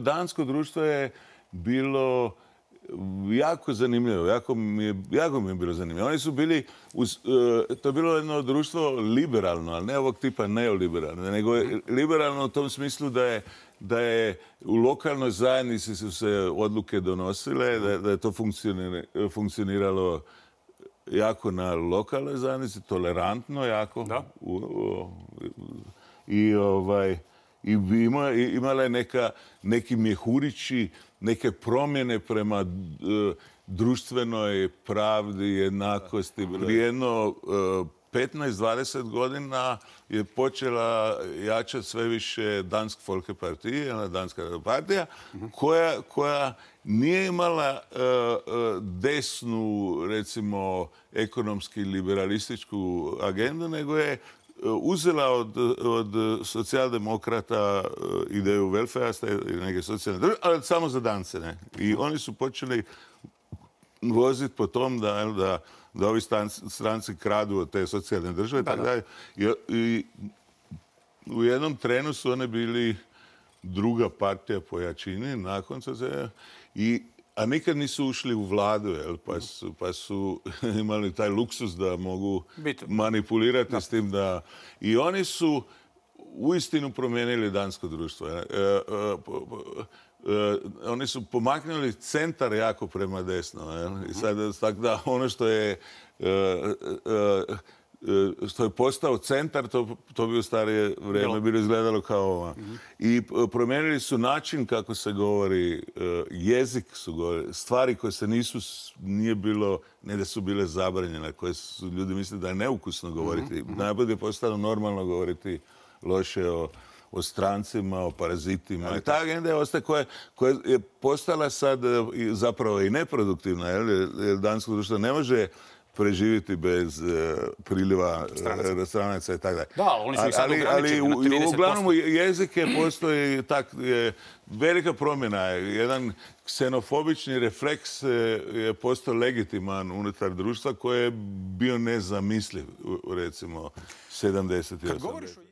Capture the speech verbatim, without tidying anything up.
dansko društvo je bilo jako zanimljivo, jako mi je, jako mi je bilo zanimljivo. Oni su bili, uz, uh, to je bilo jedno društvo liberalno, ali ne ovog tipa neoliberalno, nego je liberalno u tom smislu da je, da je u lokalnoj zajednici su se odluke donosile, da, da je to funkcioniralo jako na lokalnoj zajednici, tolerantno jako. Da. U, u, I ovaj... I ima, imala je neka, neki mjehurići, neke promjene prema uh, društvenoj pravdi, jednakosti. Prije jedno uh, petnaest dvadeset godina je počela jačati sve više Dansk Folkeparti, jedna danska partija, koja, koja nije imala uh, uh, desnu, recimo, ekonomski liberalističku agendu, nego je uzela od, od socijaldemokrata ideju welfare, neke socijalne države, ali samo za Dance. Ne? I oni su počeli voziti po tom da, da, da ovi stranci kradu od te socijalne države. Da, da. I, I u jednom trenu su one bili druga partija po jačini nakon se i a nikad nisu ušli u vladu, jel? Pa, su, pa su imali taj luksus da mogu manipulirati da. S tim da... I oni su uistinu promijenili dansko društvo. E, e, e, e, oni su pomaknuli centar jako prema desno. Jel? I sad, tako da ono što je... E, e, što je postao centar, to, to bi u starije vrijeme bilo izgledalo kao ova. Mm-hmm. I promijenili su način kako se govori, jezik su govorili, stvari koje se nisu, nije bilo, ne da su bile zabranjene, koje su ljudi mislili da je neukusno govoriti. Mm-hmm. Najbolje je postalo normalno govoriti loše o, o strancima, o parazitima. I ta agenda je ostaje koja, koja je postala sad zapravo i neproduktivna, jer, jer dansko društvo ne može preživjeti bez uh, priliva uh, stranaca i tako dalje. Da, oni su ih sad ali, ali u, uglavnom jezike postoji tak, je, velika promjena. Jedan ksenofobični refleks je postao legitiman unutar društva koji je bio nezamisliv, recimo, sedamdeset i osamdeset.